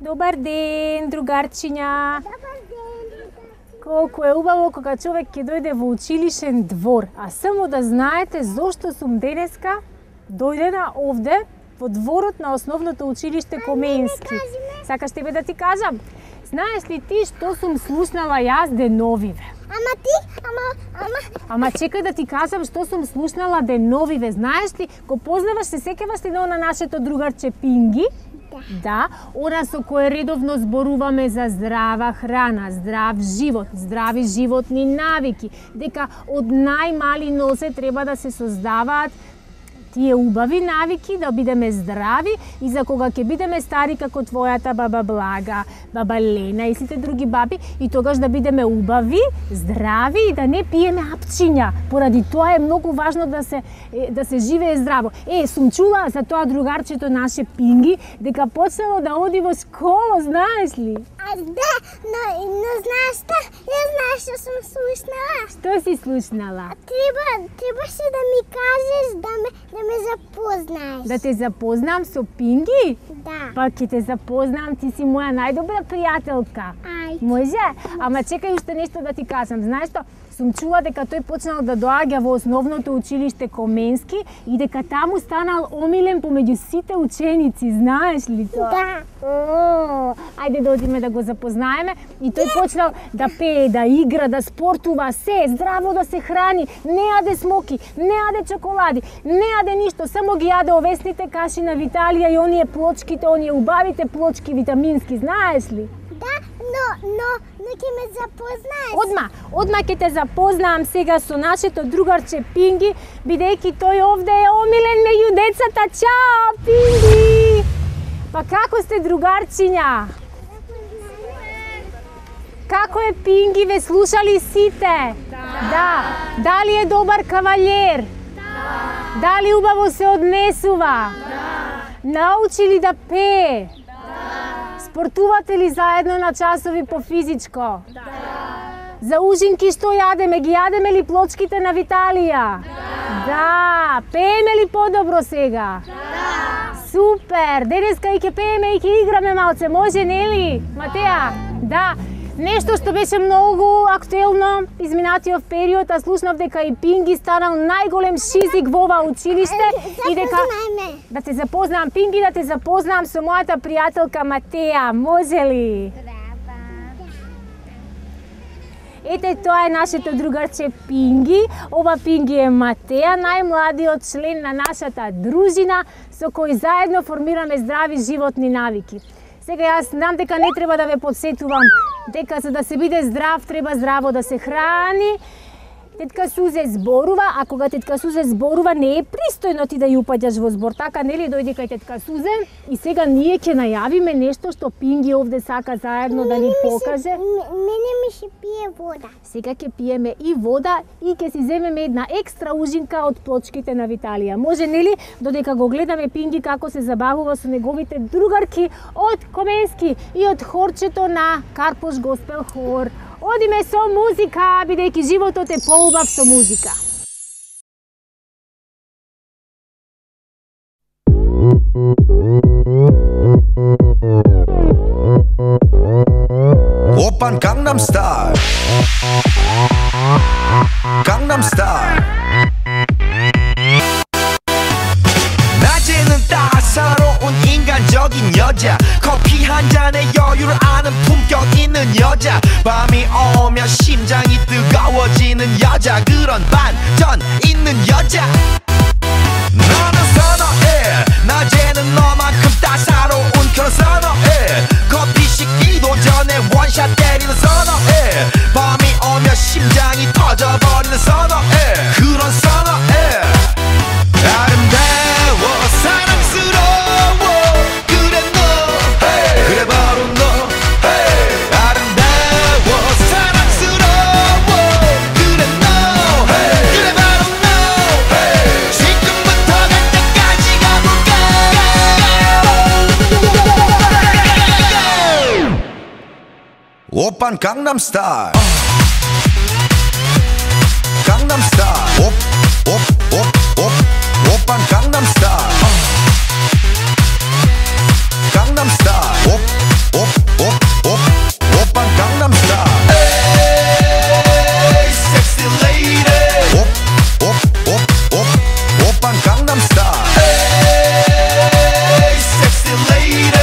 Добар ден, другарчиња. Колку е убаво кога човек ќе дојде во училишен двор. А само да знаете зошто сум денеска дојдена овде во дворот на основното училиште Коменски. Сакаш тебе да ти кажам? Знаеш ли ти што сум слушнала јас деновиве? Ама чекај да ти кажам што сум слушнала деновиве. Знаеш ли, го познаваш, се сеќаваш ли на нашето другарче Пинги? Да, она со кое редовно зборуваме за здрава храна, здрав живот, здрави животни навики, дека од најмали нозе треба да се создаваат тие убави навики, да бидеме здрави и за кога ќе бидеме стари како твојата баба Блага, баба Лена и сите други баби, и тогаш да бидеме убави, здрави и да не пиеме апчиња. Поради тоа е многу важно да се живее здраво. Сум чула за тоа другарчето наше Пинги дека почнало да оди во школа, знаеш ли? Да, но знаеш што? Ја знаеш што сум слушнала. Што си слушнала? Требаше да ми кажеш да ме запознаеш. Да те запознам со Пинги? Да. Па ќе те запознам, ти си моја најдобра пријателка. Ајде. Може? Ама чекај уште нешто да ти кажам. Знаеш што? Сум чула дека тој почнал да доаѓа во основното училиште Коменски и дека таму станал омилен помеѓу сите ученици, знаеш ли тоа? Да. Ајде да одиме да го запознаеме. И тој почнал да пее, да игра, да спортува, се, здраво да се храни, не јаде смоки, не јаде чоколади, не јаде ништо, само ги јаде овесните каши на Виталија и оние плочките, оние убавите плочки витамински, знаеш ли? Да, но ќе ме запознаеш. Одма ќе те запознавам сега со нашето другарче Пинги, бидејќи тој овде е омилен меѓу децата. Чао, Пинги! Па како сте, другарчиња? Како е Пинги, ве слушали сите? Да. Дали е добар кавалер? Да. Дали убаво се однесува? Да. Научи ли да пее? Спортувате ли заедно на часови по физичко? Да. За ужинки што јадеме? Ги јадеме ли плочките на Виталија? Да. Пееме ли подобро сега? Да. Супер! Денеска и ќе пееме и ќе играме малце, може нели? Матеа? Да. Нешто што беше многу актуелно изминатиот период, а слушнав дека и Пинги станал најголем шизик во ова училиште и дека да те запознам Пинги, да те запознам со мојата пријателка Матеа, може ли? Ете, тоа е нашето другарче Пинги. Ова Пинги е Матеа, најмладиот член на нашата дружина со кој заедно формираме здрави животни навики. Сега јас знам дека не треба да ве подсетувам дека за да се биде здрав треба здраво да се храни. Тетка Сузе зборува, а кога тетка Сузе зборува не е пристојно ти да ја упаѓаш во збор, така нели? Дојди кај тетка Сузе и сега ние ќе најавиме нешто што Пинги овде сака заедно да ни покаже. Мене ми се пие вода. Сега ќе пиеме и вода и ќе си земеме една екстра ужинка од плочките на Виталија. Може нели додека го гледаме Пинги како се забавува со неговите другарки од Коменски и од хорчето на Карпош Госпел хор. Одиме со музика, бидејќи животот е поубав со музика. Опан Gangnam Style. Gangnam Style. 낮에는 따사로운 인간적인 여자, 커피 한 잔에 여유를 아는 품격 있는 여자, 밤이 오면 심장이 여자 그런 반전 있는 여자 너는 선어해 낮에는 너만큼 따사로운 그런 선어해 커피 식기도 전에 원샷 때리는 선어해 밤이 오면 심장이 터져버리는 선어해 그런 선어해 아름다워 사랑스러워 그래 너 hey. 그래 바로 너 hey. 아름다워 사랑스러워 그래 너 hey. 그래 바로 너 hey. 지금부터 갈 때까지 가볼까 오빤 강남스타일 강남스타일 오빤 강남스타일 강남스타일 오빤 강남스타일 에이 섹시 레이디 오빤 강남스타일 에이 섹시 레이디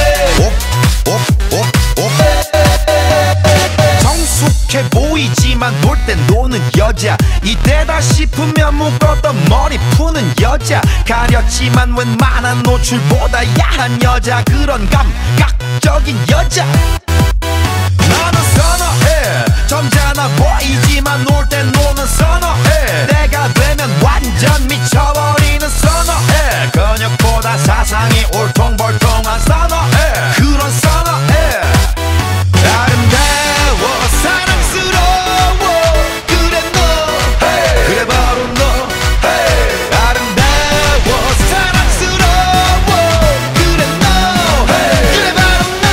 성숙해 보이지만 놀 땐 노는 여자 이때다 싶으면 묶었던 머리 푸는 여자 가렸지만 웬만한 노출보다 야한 여자 그런 감각적인 여자 나는 선어해 점잖아 보이지만 놀 땐 노는 선어해 내가 되면 완전 미쳐버리는 선어해 근육보다 사상이 울퉁불퉁한 선어해 그런 선어해 아름다워 사랑스러워 그래 너 hey. 그래 바로 너 hey. 아름다워 사랑스러워 그래 너 hey. 그래 바로 너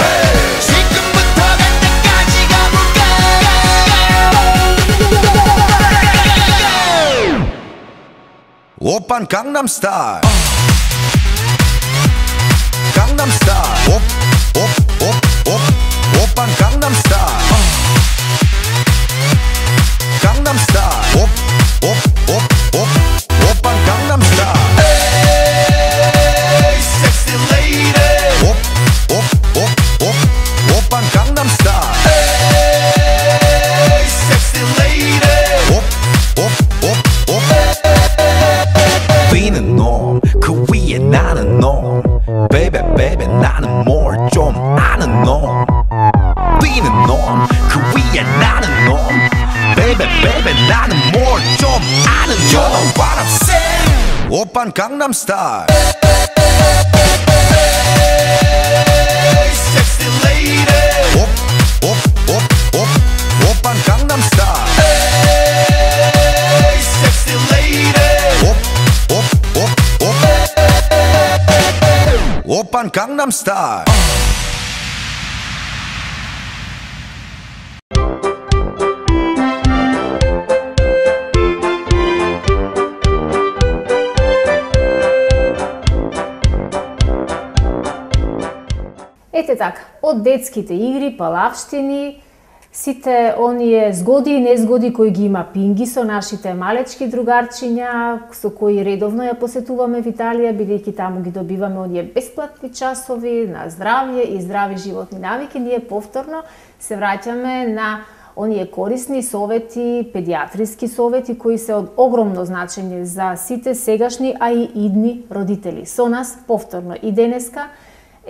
hey. 지금부터 갈 때까지 가볼까 오빤 강남스타일 강남스타일 오빤 강남스타일 강남스타일 오빤 강남스타일 에이 섹시 레이디 오빤 강남스타일 에이 섹시 레이디 비는 놈 그 위에 나는 놈 Baby baby 나는 뭘 좀 아는 놈 비는 놈 그 위에 나는 놈 Baby baby 나는 뭘 좀 아는 놈 You know what I'm saying 오빤 강남스타일 Hey sexy lady 오빤 강남스타일 Hey sexy lady 오빤 강남스타일 Ете така, од детските игри, палавштини, сите оние згоди и незгоди кои ги има Пинги со нашите малечки другарчиња, со кои редовно ја посетуваме в Италија, бидејќи таму ги добиваме оние бесплатни часови на здравје и здрави животни навики, ние повторно се враќаме на оние корисни совети, педиатриски совети кои се од огромно значење за сите сегашни, а и идни родители. Со нас повторно и денеска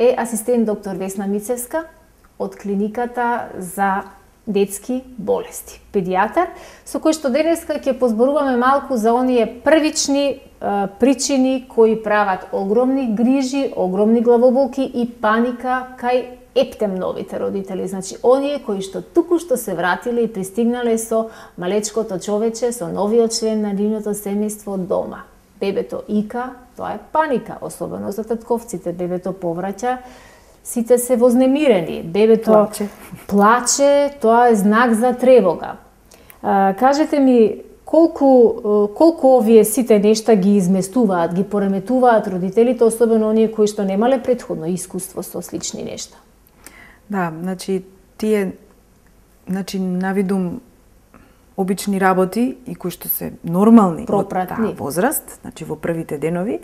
е асистент доктор Весна Мицевска од клиниката за детски болести, педијатар, со кој што денеска ќе позборуваме малку за оние првични причини кои прават огромни грижи, огромни главоболки и паника кај ептемновите родители, значи оние кои што туку што се вратиле и пристигнале со малечкото човече, со новиот член на нивното семејство дома. Бебето ика, тоа е паника, особено за татковците. Бебето повраќа, сите се вознемирени. Бебето плаче, тоа е знак за тревога. Кажете ми, колку овие сите нешта ги изместуваат, ги пореметуваат родителите, особено оние кои што немале претходно искуство со слични нешта? Да, значи тие навидум обични работи и кои што се нормални од таа возраст, значи во првите денови,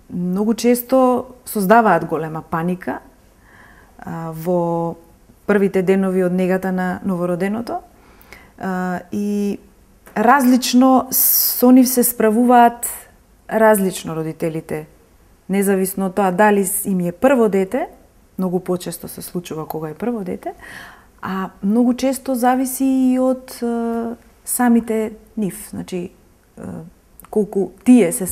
многу често создаваат голема паника во првите денови од негата на новороденото. и различно со нив се справуваат различно родителите. Независно од тоа дали им е прво дете, многу почесто се случува кога е прво дете, а многу често зависи и од самите нив. Значи, колку тие се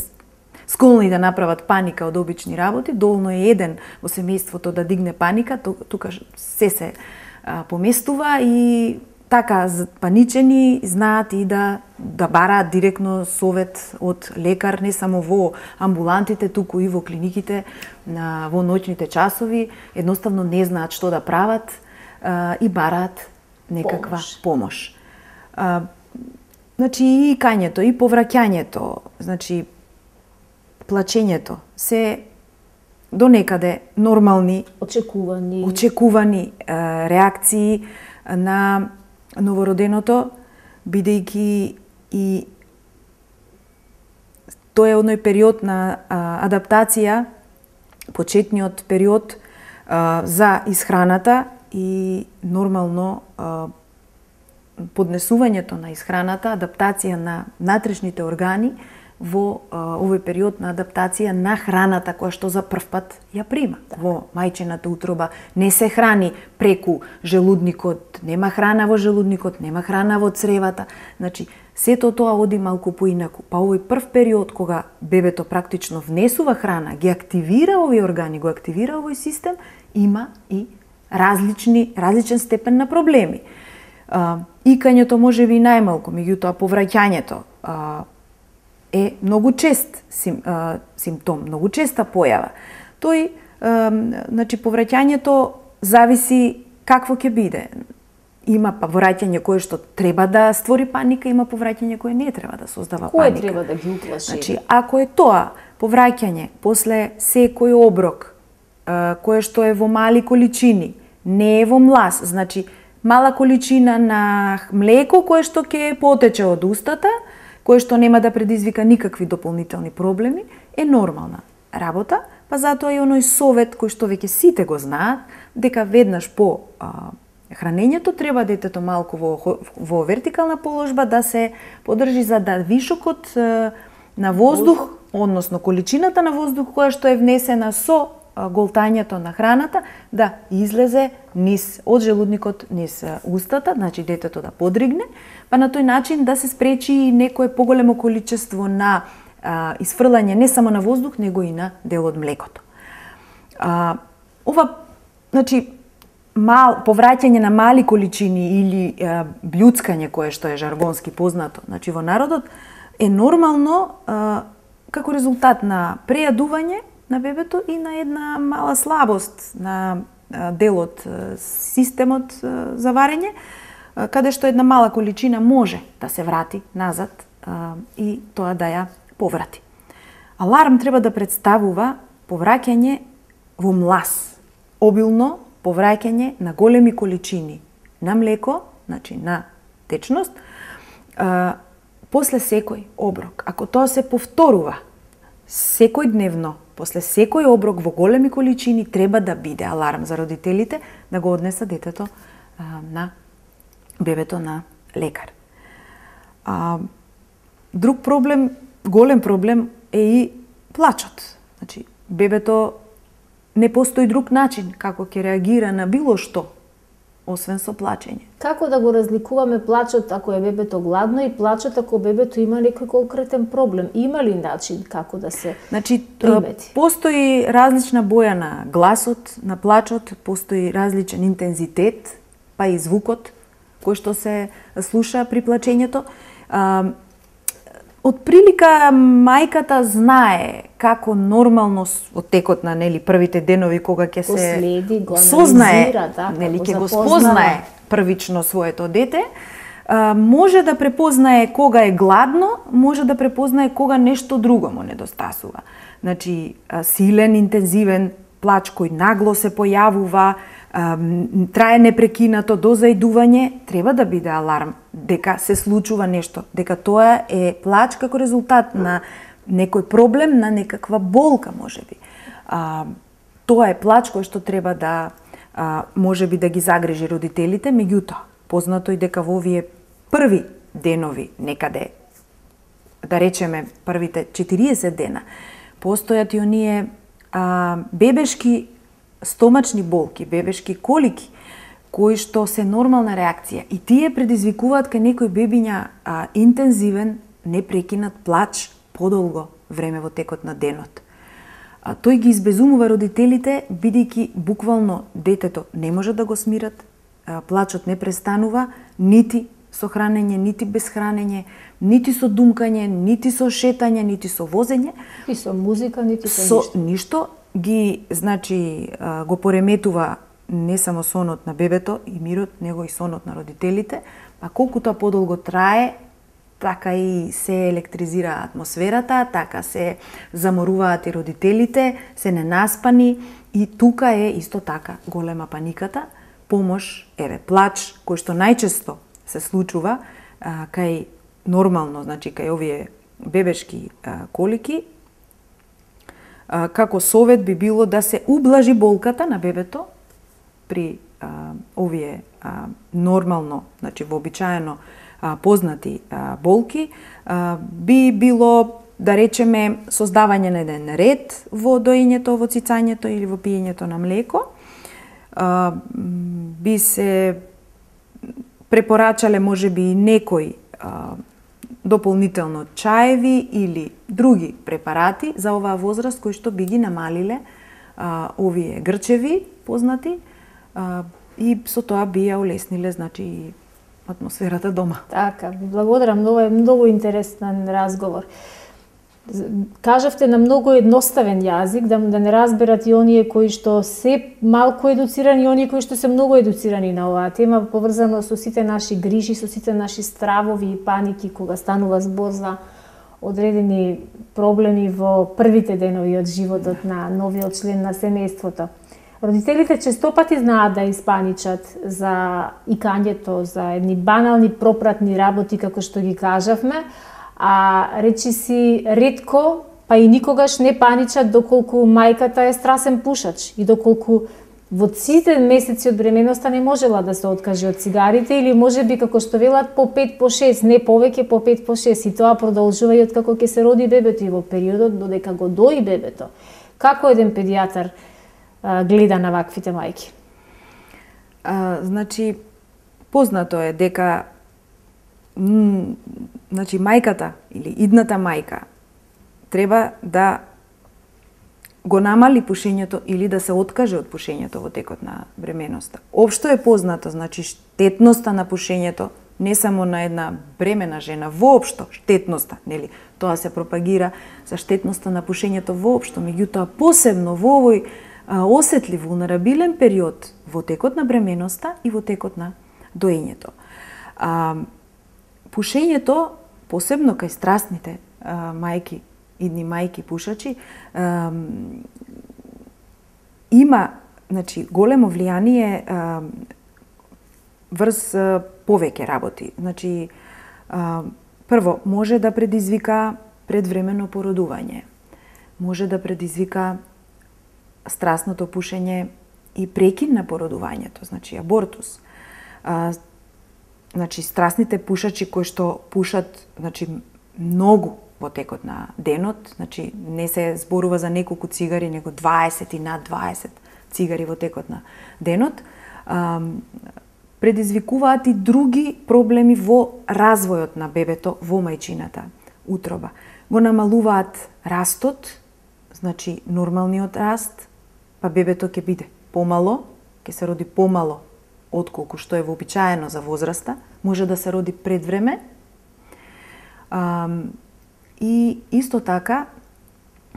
склони да направат паника од обични работи, доволно е еден во семејството да дигне паника, тука се поместува и така паничени знаат и да бараат директно совет од лекар, не само во амбулантите, туку и во клиниките, во ноќните часови, едноставно не знаат што да прават и бараат некаква помош. Значи и икањето, и повраќањето, значи плачењето, се до некаде нормални, очекувани реакции на новороденото, бидејќи и тоа е оној период на адаптација, почетниот период за исхраната и нормално поднесувањето на исхраната, адаптација на натрешните органи во овој период на адаптација на храната која што за прв пат ја прима. Во мајчината утроба не се храни преку желудникот, нема храна во желудникот, нема храна во цревата. Значи, сето тоа оди малку поинаку. Па овој прв период кога бебето практично внесува храна, ги активира овие органи, го активира овој систем, има и различен степен на проблеми. Икањето може би најмалку, меѓутоа повраќањето е многу чест симптом, многу честа појава. Тој, значи, повраќањето зависи какво ќе биде. Има повраќање кое што треба да створи паника, има повраќање кое не треба да создава паника. Кое треба да ги уплаши? Значи, ако е тоа повраќање после секој оброк, кое што е во мали количини, не е во млас, значи мала количина на млеко кое што ќе потече од устата, кое што нема да предизвика никакви дополнителни проблеми, е нормална работа, па затоа и оној совет кој што веќе сите го знаат, дека веднаш по хранењето треба детето малку во вертикална положба да се подржи за да вишокот на воздух, односно количината на воздух која што е внесена со голтањето на храната, да излезе низ од желудникот низ устата, значи детето да подригне, па на тој начин да се спречи некое поголемо количество на исфрлање не само на воздух, него и на дел од млекото. Ова, значи, повраќање на мали количини или блјуцкање, кое што е жаргонски познато, значи во народот, е нормално како резултат на прејадување на бебето и на една мала слабост на делот системот за варење, каде што една мала количина може да се врати назад и тоа да ја поврати. Аларм треба да представува повраќање во млас, обилно повраќање на големи количини на млеко, значи на течност, после секој оброк. Ако тоа се повторува секојдневно, после секој оброк во големи количини, треба да биде аларм за родителите да го однеса детето на бебето на лекар. Друг проблем, голем проблем е и плачот. Значи, бебето не постои друг начин како ќе реагира на било што, освен со плачење. Како да го разликуваме плачот ако е бебето гладно и плачот ако бебето има некој конкретен проблем? Има ли начин како да се примети? Постои различна боја на гласот, на плачот, постои различен интензитет, па и звукот кој што се слуша при плачењето. Од прилика мајката знае како нормално од текот на првите денови кога ќе се сознае, ќе го спознае првично своето дете, може да препознае кога е гладно, може да препознае кога нешто друго му недостасува. Значи, силен, интензивен плач кој нагло се појавува, трае непрекинато до заидување, треба да биде аларм дека се случува нешто, дека тоа е плач како резултат на некој проблем, на некаква болка можеби. Тоа е плач кој што треба да можеби да ги загрижи родителите, меѓутоа познато и дека во овие први денови некаде, да речеме првите 40 дена, постојат и оние бебешки стомачни болки, бебешки колики, кои што се нормална реакција. И тие предизвикуваат кај некои бебиња интензивен, непрекинат плач подолго време во текот на денот. Тој ги избезумува родителите, бидејќи буквално детето не може да го смират, плачот не престанува, нити со хранење, нити без хранење, нити со думкање, нити со шетање, нити со возење. И со музика, нити со ништо. Ги, значи, го пореметува не само сонот на бебето и мирот, него и сонот на родителите, па колку тоа подолго трае, така и се електризира атмосферата, така се заморуваат и родителите, се ненаспани и тука е исто така голема паниката, помош, плач, кој што најчесто се случува кај нормално, значи кај овие бебешки колики. Како совет би било да се ублажи болката на бебето при овие нормално, значи вообичаено познати болки, би било, да речеме, создавање на еден ред во доењето, во цицањето или во пиењето на млеко. Би се препорачале можеби и некои дополнително чаеви или други препарати за оваа возраст кои што би ги намалиле овие грчеви познати и со тоа би ја улесниле, значи, атмосферата дома. Така, благодарам, многу интересен разговор. Кажавте на многу едноставен јазик, да не разберат и оние кои што се малку едуцирани и оние кои што се многу едуцирани на оваа тема, поврзано со сите наши грижи, со сите наши стравови и паники кога станува збор за одредени проблеми во првите денови од животот на новиот член на семејството. Родителите честопати знаат да испаничат за икањето, за едни банални пропратни работи, како што ги кажавме, а речи си ретко, па и никогаш не паничат доколку мајката е страсен пушач и доколку во сите месеци од бременоста не можела да се откаже од цигарите или можеби како што велат по 5 по 6, не повеќе по 5 по 6 и тоа продолжува и откако ќе се роди бебето и во периодот додека го дои бебето. Како еден педијатар гледа на ваквите мајки? Значи, познато е дека значи мајката или идната мајка треба да го намали пушењето или да се откаже од пушењето во текот на бременоста. Општо е познато, значи штетноста на пушењето не само на една бремена жена, воопшто штетноста, нели? Тоа се пропагира за штетноста на пушењето воопшто, меѓутоа посебно во овој осетлив, вулнерабилен период во текот на бременоста и во текот на доењето. Пушењето, посебно кај страстните мајки, идни мајки пушачи, има, значи, големо влијание врз повеќе работи. Значи, прво, може да предизвика предвремено породување, може да предизвика страстното пушење и прекин на породувањето, значи абортус. Значи, страстните пушачи кои што пушат, значи, многу во текот на денот, значи, не се зборува за неколку цигари, него 20 и над 20 цигари во текот на денот, предизвикуваат и други проблеми во развојот на бебето во мајчината утроба. Го намалуваат растот, значи, нормалниот раст, па бебето ќе биде помало, ќе се роди помало отколку што е вообичаено за возраста, може да се роди пред време. И исто така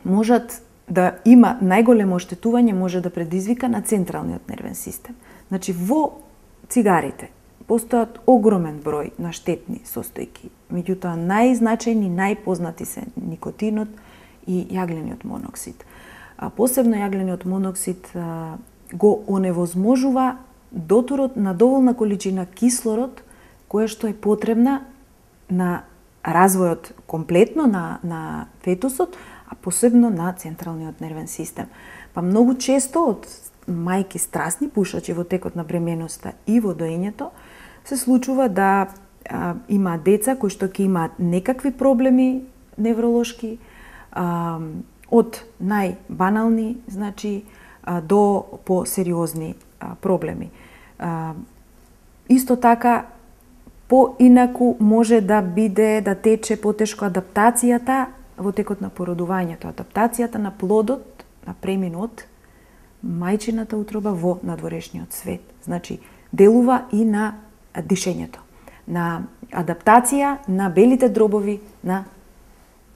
можат да има најголемо оштетување, може да предизвика на централниот нервен систем. Значи во цигарите постојат огромен број на штетни состојки, меѓутоа најзначајни, најпознати се никотинот и јаглениот моноксид. Посебно јаглениот моноксид го оневозможува дотурот на доволна количина кислород која што е потребна на развојот комплетно на фетусот, а посебно на централниот нервен систем. Па многу често од мајки страстни пушачи во текот на бременоста и во доењето се случува да има деца кои што ќе имаат некакви проблеми невролошки, од најбанални, значи, до посериозни проблеми. Исто така, поинаку може да биде, да тече потешко адаптацијата во текот на породувањето, адаптацијата на плодот, на преминот, мајчината утроба во надворешниот свет. Значи, делува и на дишењето, на адаптација на белите дробови на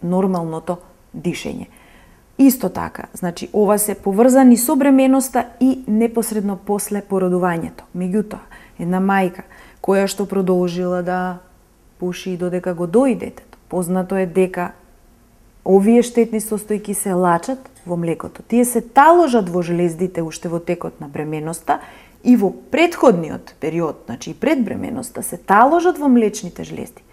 нормалното дишење. Исто така, значи, ова се поврзани со бременоста и непосредно после породувањето. Меѓутоа, една мајка која што продолжила да пуши додека го дои детето, познато е дека овие штетни состојки се лачат во млекото. Тие се таложат во жлездите уште во текот на бременоста и во претходниот период, значи и пред бременоста, се таложат во млечните жлезди,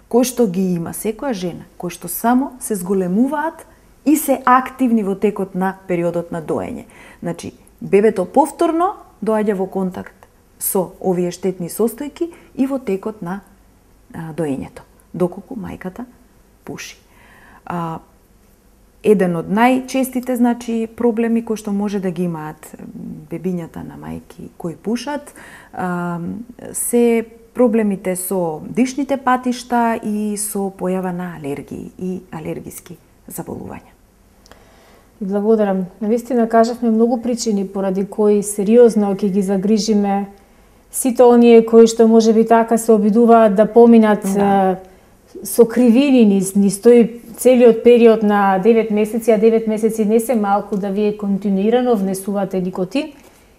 кои што ги има секоја жена, кои што само се зголемуваат и се активни во текот на периодот на доење. Значи, бебето повторно доаѓа во контакт со овие штетни состојки и во текот на доењето, доколку мајката пуши. Еден од најчестите, значи, проблеми кои што може да ги имаат бебињата на мајки кои пушат, се проблемите со дишните патишта и со појава на алергии и алергиски заболувања. Благодарам. Навистина кажавме многу причини поради кои сериозно ќе ги загрижиме сите оние кои што можеби така се обидуваат да поминат со кривини низ тој целиот период на 9 месеци, а 9 месеци не се малку, да вие континуирано внесувате никотин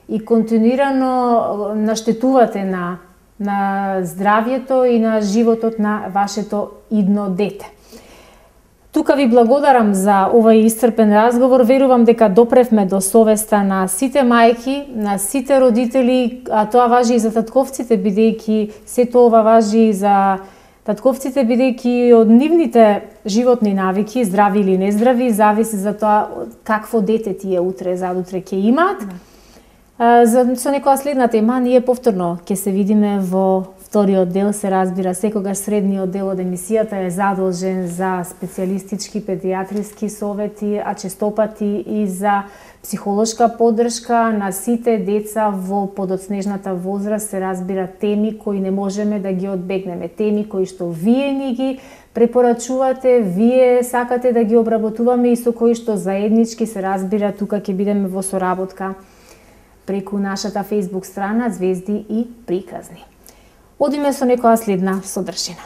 и континуирано наштетувате на здравјето и на животот на вашето идно дете. Тука ви благодарам за овој исцрпен разговор. Верувам дека допревме до совеста на сите мајки, на сите родители, а тоа важи и за татковците, бидејќи сето ова важи и за татковците, бидејќи од нивните животни навики, здрави или нездрави, зависи за тоа какво дете тие утре, задутре ќе имаат. Со некоја следна тема, ние повторно ќе се видиме во вториот дел. Се разбира, секогаш средниот дел од емисијата е задолжен за специјалистички педијатриски совети, а честопати и за психолошка поддршка на сите деца во подоцнежната возраст. Се разбира, теми кои не можеме да ги одбегнеме, теми кои што вие ни ги препорачувате, вие сакате да ги обработуваме и со кои што заеднички, се разбира, тука ќе бидеме во соработка преку нашата Facebook страна Звезди и приказни. Одиме со некоја следна содржина.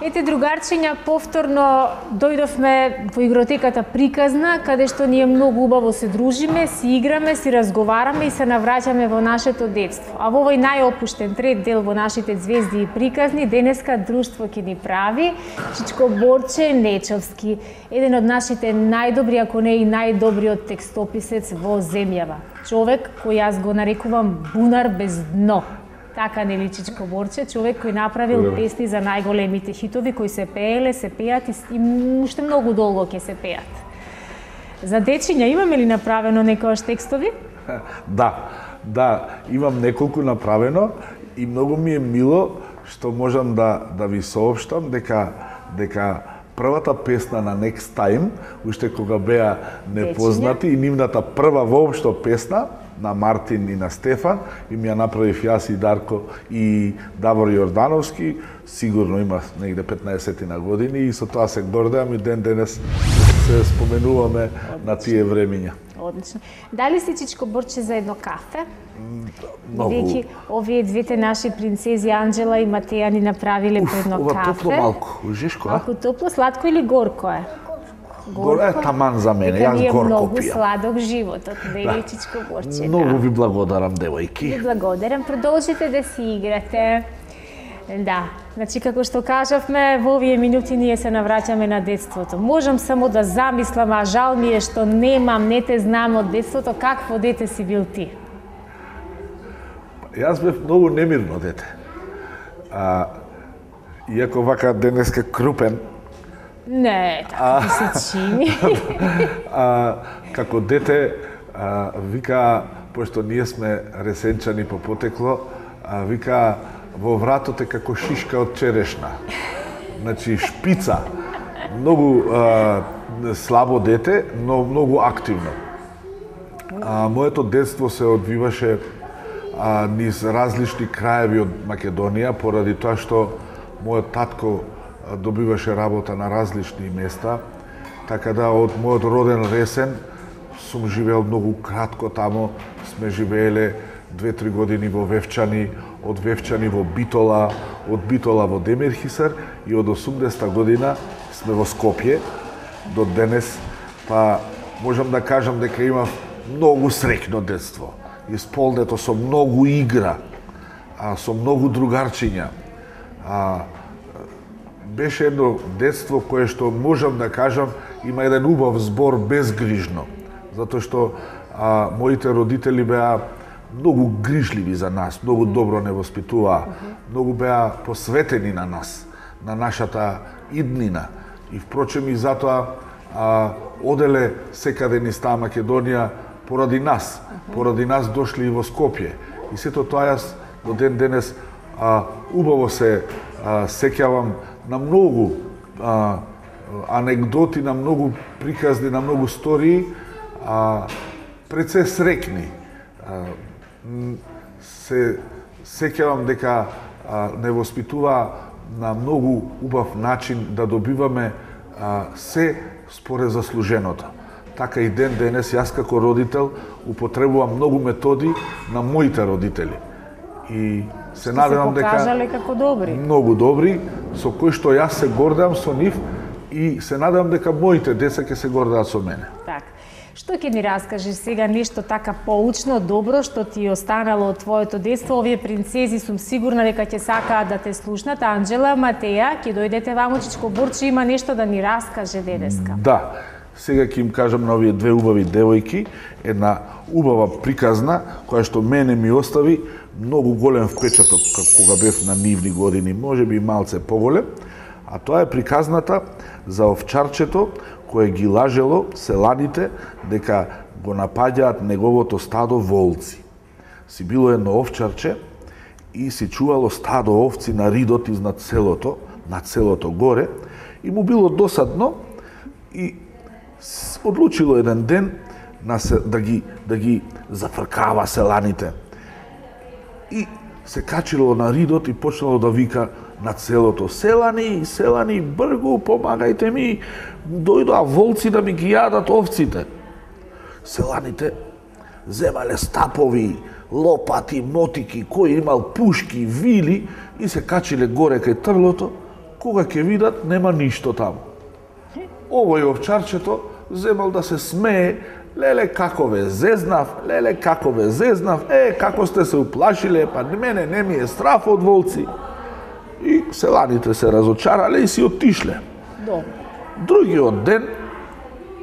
Ете, другарчиња, повторно дојдовме во игротеката Приказна, каде што ние многу убаво се дружиме, си играме, си разговараме и се навраќаме во нашето детство. А во овој најопуштен трет дел во нашите Звезди и приказни, денеска друштво ќе ни прави Чичко Борче Нечовски, еден од нашите најдобри, ако не и најдобриот текстописец во земјава. Човек кој јас го нарекувам бунар без дно. Така нели, Чичко Борче, човек кој направил песни за најголемите хитови кои се пееле, се пеат и уште многу долго ќе се пеат. За дечиња имаме ли направено некојаш текстови? Да, имам неколку направено и многу ми е мило што можам да ви соопштам дека првата песна на Next Time, уште кога беа непознати, и нивната прва воопшто песна на Мартин и на Стефан, и ми ја направив јас и Дарко и Давор Јордановски, сигурно има негде 15 на години, и со тоа се гордеам и ден денес се споменуваме на тие времиња. Одлично. Дали си, Чичко Борче, за едно кафе? Многу. Бидејќи овие двете наши принцези Анџела и Матеја ни направиле по едно кафе. Ова топло малку, жешко, а? Малку топло, сладко или горко е? Горко е таман за мене, јас горко пијам. Многу сладок животот, нели, Чичко Борче? Многу ви благодарам, девојки. Ви благодарам, продолжите да си играте. Да, значи како што кажавме, во овие минути ние се навраќаме на детството. Можам само да замислам, а жал ми е што немам, не те знам од детството, какво дете си бил ти? Јас бев многу немирно дете. Иако вака денеска крупен, Не, така ти се чини. Како дете, вика, пошто ние сме ресенчани по потекло, вика, во вратот е како шишка од черешна. Значи, шпица. Многу слабо дете, но многу активно. Моето детство се одвиваше низ различни краеви од Македонија, поради тоа што мојот татко добиваше работа на различни места, така да од мојот роден Ресен сум живеел многу кратко тамо, сме живееле 2-3 години во Вевчани, од Вевчани во Битола, од Битола во Демирхисар и од 80-та година сме во Скопје до денес, па можам да кажам дека имав многу среќно детство. Исполнето со многу игра, со многу другарчиња. Беше едно детство кое што можам да кажам има еден убав збор безгрижно, затоа што моите родители беа многу грижливи за нас, многу добро не воспитуваа, многу беа посветени на нас, на нашата иднина. И впрочем и затоа оделе секаде низ таа Македонија поради нас дошли и во Скопје. И сето тоа јас до ден денес убаво се сеќавам на многу анегдоти, на многу приказни, на многу стории, пред се среќни. Се сеќавам дека не воспитува на многу убав начин да добиваме се според заслуженото. Така и ден денес јас како родител употребувам многу методи на моите родители. И се надевам дека покажале како добри. Многу добри, со кои што јас се гордам со нив и се надевам дека моите деца ќе се гордаат со мене. Така. Што ќе ни раскажеш сега нешто така поучно, добро, што ти останало од твоето детство? Овие принцези сум сигурна дека ќе сакаат да те слушнат. Анџела, Матеја, ќе дојдете ваму, чичко Борче има нешто да ни раскаже денеска. Да, сега ќе им кажам на овие две убави девојки, една убава приказна, која што мене ми остави многу голем впечаток кога бев на нивни години, можеби малце поголем, а тоа е приказната за овчарчето кое ги лажело селаните дека го напаѓаат неговото стадо волци. Си било едно овчарче и си чувало стадо овци на ридот изнад селото, над селото горе, и му било досадно и одлучило еден ден да ги зафркава селаните. И се качило на ридот и почнало да вика над селото: "Селани, селани, бргу, помагајте ми, дојдоа волци да ми ги јадат овците." Селаните земале стапови, лопати, мотики, кој имал пушки, вили и се качиле горе кај трлото, кога ќе видат нема ништо таму. Овој овчарчето земал да се смее: "Леле, како ве зезнав, леле, како ве зезнав, како сте се уплашиле, па мене не ми е страф од волци." И селаните се разочарале и си отишле. Другиот ден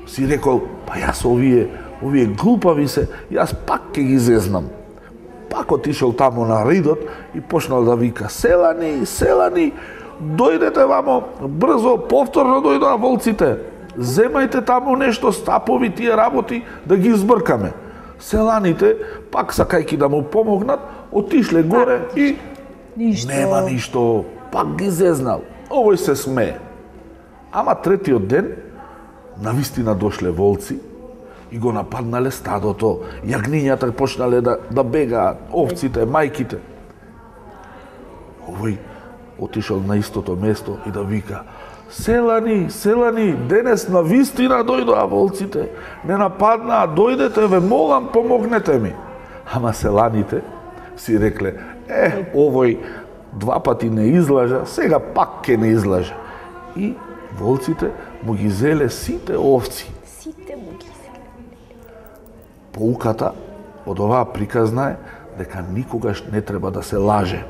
си рекол: "Па јас овие глупави се, јас пак ќе ги зезнам." Пак отишол таму на ридот и почнал да вика: "Селани, селани, дојдете вамо, брзо, повторно дојдоа волците. Земајте таму нешто, стапови, тие работи, да ги избркаме." Селаните, пак сакајки да му помогнат, отишле горе и нема ништо, пак ги зезнал. Овој се смее. Ама третиот ден, навистина дошле волци и го нападнале стадото. Јагнињата почнале да бегаат, овците, мајките. Овој отишол на истото место и да вика: "Селани, селани, денес навистина дојдоа волците. Не нападнаа, дојдете, ве молам, помогнете ми." Ама селаните си рекле: "Овој два пати не излажа, сега пак ќе не излажа." И волците му ги зеле сите овци. Сите му ги зеле. Поуката од оваа приказна е дека никогаш не треба да се лаже,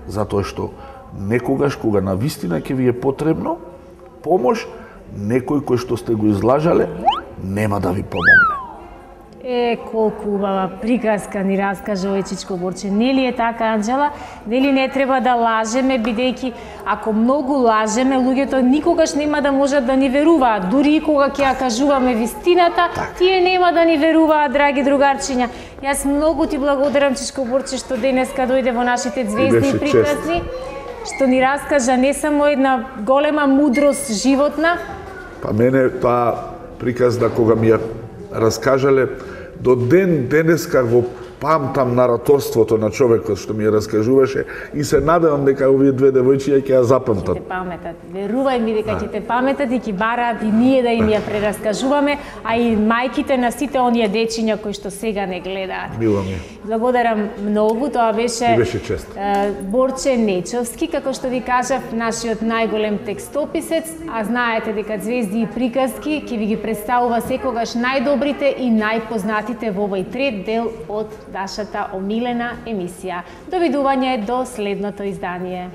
затоа што некогаш кога навистина ќе ви е потребно помош, некој кој што сте го излажале нема да ви помогне. Колку убава приказка ни раскажа овој Чичко Борче. Нели е така, Анџела? Нели не треба да лажеме, бидејќи ако многу лажеме, луѓето никогаш нема да можат да ни веруваат. Дури и кога ќе ја кажуваме вистината, тие нема да ни веруваат, драги другарчиња. Јас многу ти благодарам, Чичко Борче, што денеска дојде во нашите звезди и приказни, што ни раскажа не само една голема мудрост животна. Па мене таа приказна кога ми ја раскажале, до ден денеска го памтам нараторството на човекот што ми ја раскажуваше и се надевам дека овие две девојчиња ќе ја запамтат. Ќе те паметат. Верувај ми дека ќе те паметат и ќе бараат и ние да им ја прераскажуваме, а и мајките на сите оние дечиња кои што сега не гледаат. Мило ми. Благодарам многу, тоа беше чест. Борче Нечовски, како што ви кажав, нашиот најголем текстописец, а знаете дека звезди и приказки ќе ви ги представува секогаш најдобрите и најпознатите во овој трет дел од нашата омилена емисија. Довидување до следното издание.